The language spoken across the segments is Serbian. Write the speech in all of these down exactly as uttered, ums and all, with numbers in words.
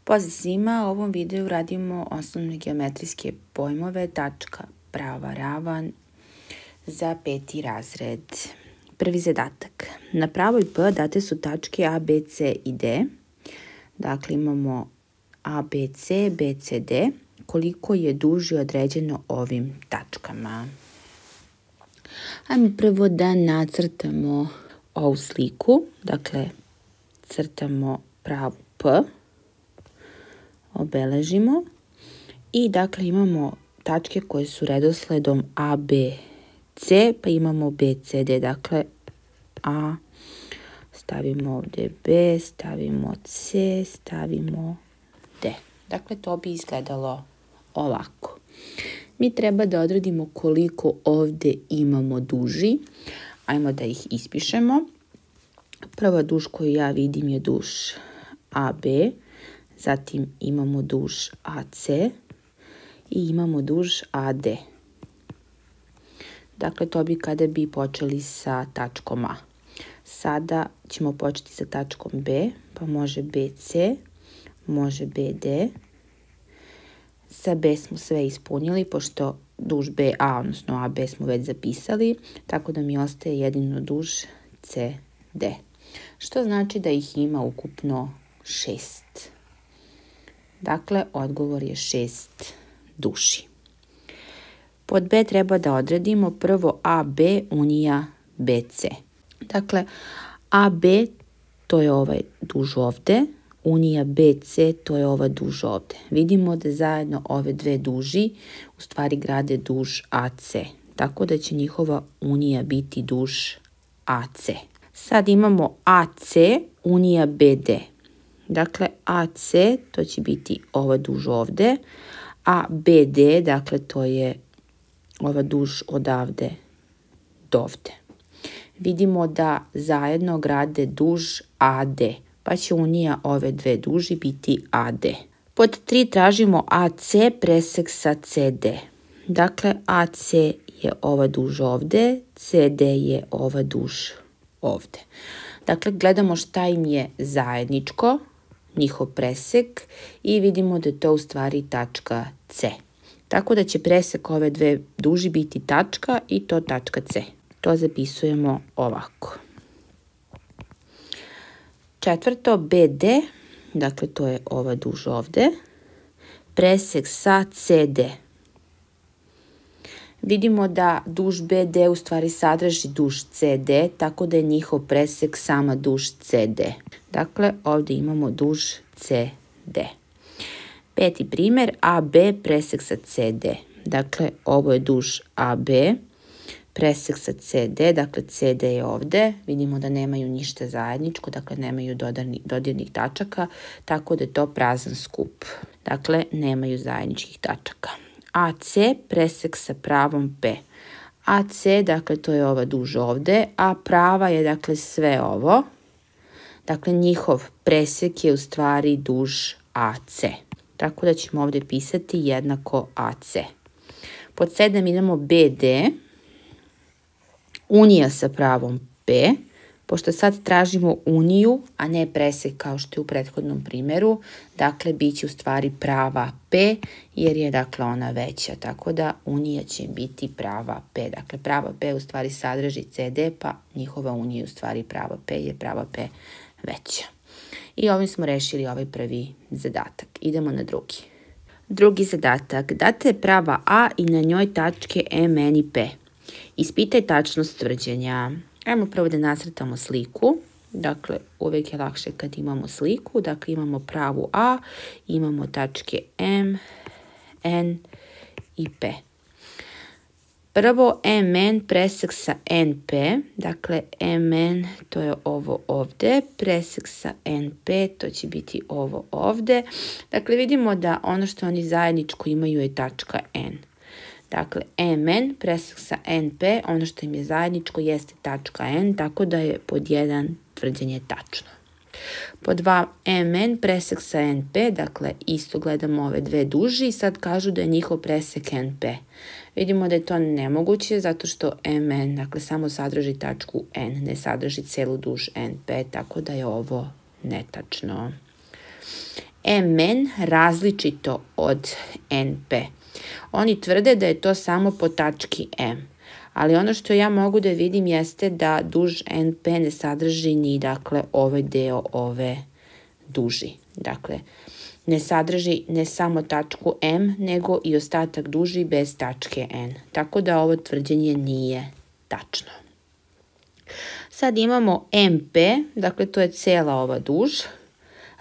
Pozdrav svima, u ovom videu radimo osnovne geometrijske pojmove, tačka, prava, ravan za peti razred. Prvi zadatak. Na pravoj P date su tačke A, B, C i D. Dakle, imamo A, B, C, B, C, D. Koliko je duži određeno ovim tačkama. Ajmo prvo da nacrtamo ovu sliku. Dakle, crtamo pravu P. Obeležimo i dakle imamo tačke koje su redosledom A, B, C, pa imamo B, C, D, dakle A, stavimo ovdje B, stavimo C, stavimo D. Dakle, to bi izgledalo ovako. Mi treba da odredimo koliko ovdje imamo duži. Ajmo da ih ispišemo. Prva duž koju ja vidim je duž A B, zatim imamo duž A C i imamo duž A D. Dakle, to bi kada bi počeli sa tačkom A. Sada ćemo početi sa tačkom B, pa može B C, može B D. Sa B smo sve ispunili, pošto duž B A, odnosno A B smo već zapisali, tako da mi ostaje jedino duž C D. Što znači da ih ima ukupno šest. Dakle, odgovor je šest duži. Pod B treba da odredimo prvo A B unija B C. Dakle, A B to je ovaj duž ovde, unija B C to je ova duž ovde. Vidimo da zajedno ove dve duži u stvari grade duž A C. Tako da će njihova unija biti duž A C. Sad imamo A C unija B D. Dakle, A C to će biti ova duž ovde, a B D, dakle, to je ova duž odavde do ovde. Vidimo da zajedno grade duž A D, pa će unija ove dve duži biti A D. Pod tri tražimo A C presek sa C D. Dakle, A C je ova duž ovde, C D je ova duž ovde. Dakle, gledamo šta im je zajedničko, njihov presek, i vidimo da je to u stvari tačka C. Tako da će presek ove dve duži biti tačka i to tačka C. To zapisujemo ovako. Četvrto, B D, dakle to je ova duž ovde, presek sa C D. Vidimo da duž B D u stvari sadrži duž C D, tako da je njihov presek sama duž C D. Dakle, ovdje imamo duž C D. Peti primjer, A B presek sa C D. Dakle, ovo je duž A B, presek sa C D, dakle C D je ovdje. Vidimo da nemaju ništa zajedničko, dakle nemaju dodirnih tačaka, tako da je to prazan skup. Dakle, nemaju zajedničkih tačaka. A C presek sa pravom P. A C, dakle, to je ova duž ovde, a prava je, dakle, sve ovo. Dakle, njihov presek je u stvari duž A C. Tako da ćemo ovdje pisati jednako A C. Pod sedam idemo B D. Unija sa pravom P. Pošto sad tražimo uniju, a ne presek kao što je u prethodnom primjeru, dakle, bit će u stvari prava P, jer je, dakle, ona veća. Tako da unija će biti prava P. Dakle, prava P u stvari sadrži C D, pa njihova unija u stvari prava P, jer prava P veća. I ovim smo rešili ovaj prvi zadatak. Idemo na drugi. Drugi zadatak. Date je prava A i na njoj tačke M, N i P. Ispitaj tačnost tvrđenja. Ajmo prvo da nacrtamo sliku. Dakle, uvijek je lakše kad imamo sliku. Dakle, imamo pravu A, imamo tačke M, N i P. Prvo M N presek sa N P. Dakle, M N to je ovo ovde. Presek sa N P to će biti ovo ovde. Dakle, vidimo da ono što oni zajedničko imaju je tačka N. Dakle, M N presek sa N P, ono što im je zajedničko jeste tačka N, tako da je pod jedan tvrđenje tačno. Pod dva, M N presek sa N P, dakle isto gledamo ove dve duži i sad kažu da je njihov presek N P. Vidimo da je to nemoguće zato što M N, dakle, samo sadrži tačku N, ne sadrži celu duž N P, tako da je ovo netačno. M N različito od N P. Oni tvrde da je to samo po tački M. Ali ono što ja mogu da vidim jeste da duž N P ne sadrži ni, dakle, ovaj deo ove duži. Dakle, ne sadrži ne samo tačku M, nego i ostatak duži bez tačke N. Tako da ovo tvrđenje nije tačno. Sad imamo M P, dakle to je cela ova duž,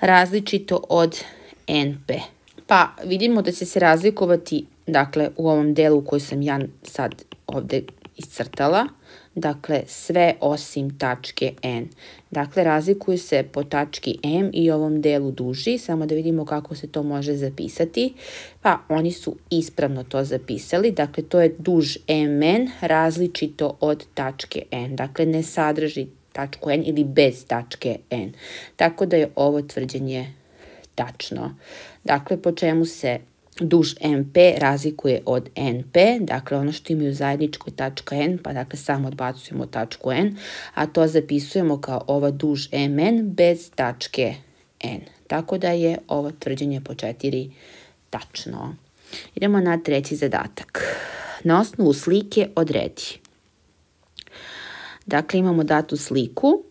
različito od N P. Pa vidimo da će se razlikovati, dakle, u ovom delu koji sam ja sad ovde iscrtala, dakle, sve osim tačke N. Dakle, razlikuju se po tački M i ovom delu duži, samo da vidimo kako se to može zapisati. Pa, oni su ispravno to zapisali, dakle, to je duž M N različito od tačke N. Dakle, ne sadrži tačku N ili bez tačke N. Tako da je ovo tvrđenje tačno. Dakle, po čemu se duž M P razlikuje od N P, dakle ono što imaju zajedničko je tačka N, pa dakle samo odbacujemo tačku N, a to zapisujemo kao ova duž M N bez tačke N. Tako da je ovo tvrđenje po četiri tačno. Idemo na treći zadatak. Na osnovu slike odredi. Dakle, imamo datu sliku.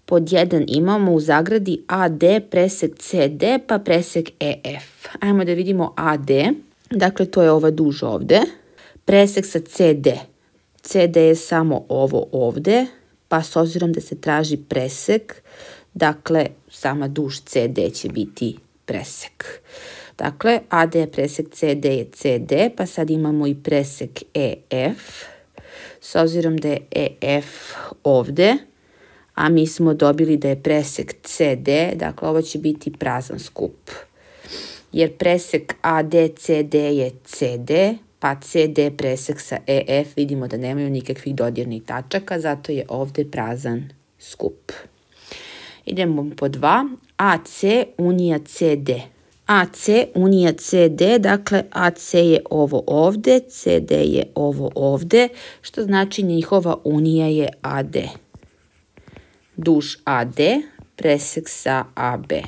Pod jedan imamo u zagradi A D presek C D pa presek E F. Ajmo da vidimo A D. Dakle, to je ova duž ovde. Presek sa C D. C D je samo ovo ovde, pa s obzirom da se traži presek, dakle, sama duž C D će biti presek. Dakle, A D presek C D je C D, pa sad imamo i presek E F. S obzirom da je E F ovde, a mi smo dobili da je presek C D, dakle ovo će biti prazan skup. Jer presek A D C D je C D, pa C D presek sa E F vidimo da nemaju nikakvih dodirnih tačaka, zato je ovde prazan skup. Idemo po dva. A C unija C D. A C unija C D, dakle A C je ovo ovde, C D je ovo ovde, što znači njihova unija je A D. Duž A D, presek sa A B.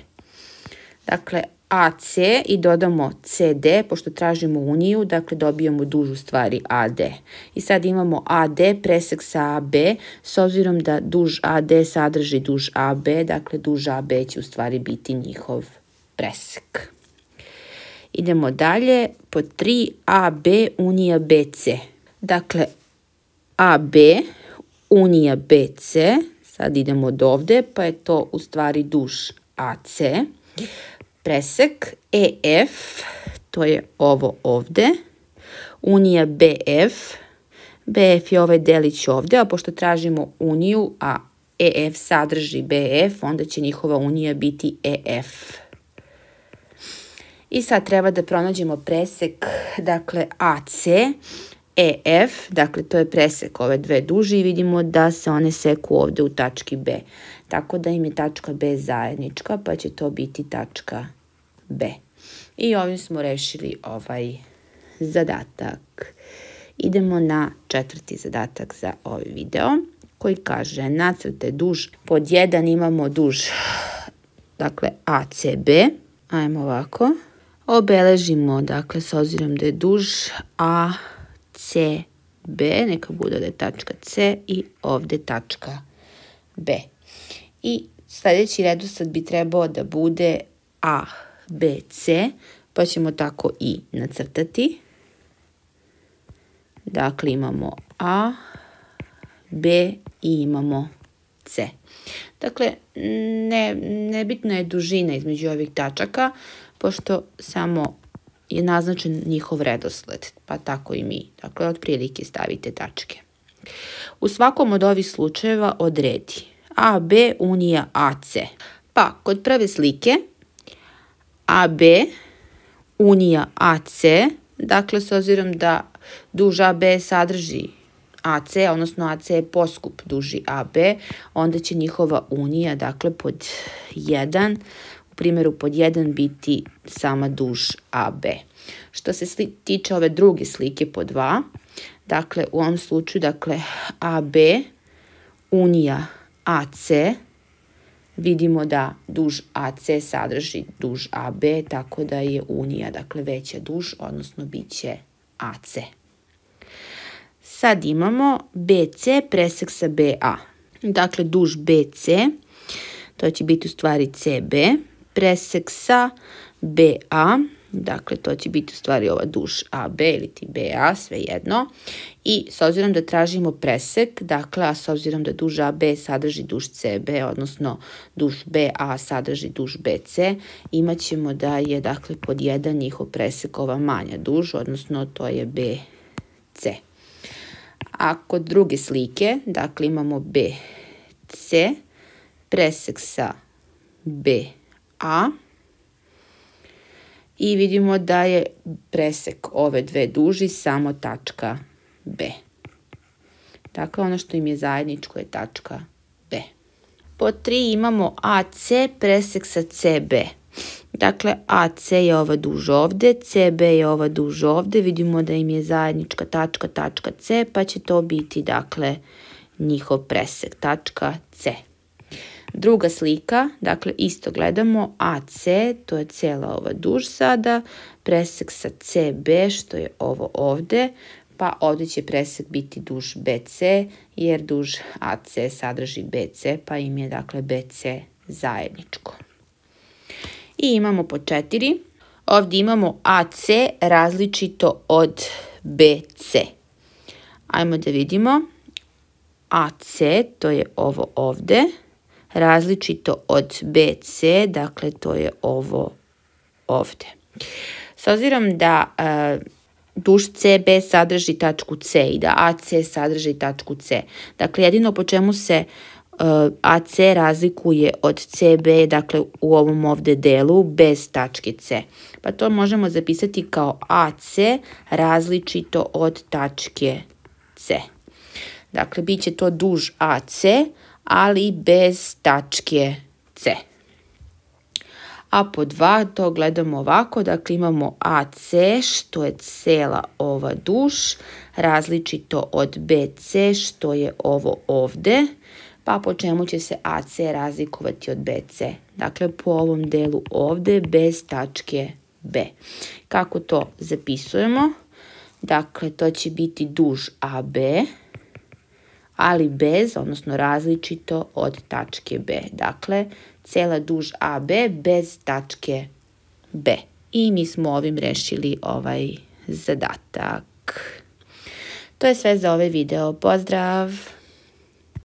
Dakle, A C i dodamo C D, pošto tražimo uniju, dakle dobijamo duž u stvari A D. I sad imamo A D presek sa A B, s obzirom da duž A D sadrži duž A B, dakle duž A B će u stvari biti njihov presek. Idemo dalje, po tri A B unija B C. Dakle, A B unija B C, sad idemo od ovde, pa je to u stvari duž A C. Presek E F, to je ovo ovde. Unija B F. B F je ovaj delić ovde, a pošto tražimo uniju, a E F sadrži B F, onda će njihova unija biti E F. I sad treba da pronađemo presek, dakle A C, E F, dakle to je presek ove dve duži i vidimo da se one seku ovde u tački B. Tako da im je tačka B zajednička, pa će to biti tačka B. I ovim smo rešili ovaj zadatak. Idemo na četvrti zadatak za ovaj video, koji kaže nacrtaj duž. Pod jedan imamo duž, dakle A C B. Ajmo ovako. Obeležimo, dakle, s obzirom da je duž A C B, neka bude da je tačka C i ovde tačka B. I sljedeći redosled bi trebao da bude A, B, C, pa ćemo tako i nacrtati. Dakle, imamo A, B i imamo C. Dakle, ne, nebitna je dužina između ovih tačaka, pošto samo je naznačen njihov redosled, pa tako i mi. Dakle, otprilike stavite tačke. U svakom od ovih slučajeva odredi A B unija A C. Pa, kod prve slike A B unija A C, dakle, s obzirom da duž A B sadrži A C, odnosno A C je poskup duži A B, onda će njihova unija, dakle, pod jedan, u primjeru pod jedan biti sama duž A B. Što se tiče ove druge slike pod dva, dakle, u ovom slučaju, dakle, A B unija A C, vidimo da duž A C sadrži duž A B, tako da je unija, dakle, veća duž, odnosno bit će A C. Sad imamo B C presek sa B A. Dakle, duž B C, to će biti u stvari C B, presek sa B A, dakle, to će biti u stvari ova duž A B ili ti B A, svejedno. I s obzirom da tražimo presek, dakle, a s obzirom da duž A B sadrži duž C B, odnosno duž B A sadrži duž B C, imat ćemo da je, dakle, pod jedan njihov presek ova manja duž, odnosno to je B C. A kod druge slike, dakle, imamo B C, presek sa B A, i vidimo da je presek ove dve duži samo tačka B. Dakle, ono što im je zajedničko je tačka B. Pod tri imamo A C presek sa C B. Dakle, A C je ova duž ovde, C B je ova duž ovde, vidimo da im je zajednička tačka, tačka C, pa će to biti, dakle, njihov presek, tačka C. Druga slika, dakle, isto gledamo A C, to je cijela ova duž sada, presek sa C B, što je ovo ovde, pa ovde će presek biti duž B C, jer duž A C sadrži B C, pa im je, dakle, B C zajedničko. I imamo po četiri. Ovdje imamo A C različito od B C. Ajmo da vidimo. A C, to je ovo ovde, različito od B C, dakle, to je ovo ovde. S obzirom da uh, duž C B sadrži tačku C i da A C sadrži tačku C, dakle, jedino po čemu se A C razlikuje od C B, dakle, u ovom ovde delu bez tačke C. Pa to možemo zapisati kao A C različito od tačke C. Dakle, bit će to duž A C, ali bez tačke C. A po dva to gledamo ovako, dakle, imamo A C, što je cela ova duž, različito od B C, što je ovo ovde, pa po čemu će se A C razlikovati od B C? Dakle, po ovom delu ovde bez tačke B. Kako to zapisujemo? Dakle, to će biti duž A B, ali bez, odnosno različito od tačke B. Dakle, cela duž A B bez tačke B. I mi smo ovim rešili ovaj zadatak. To je sve za ovaj video. Pozdrav!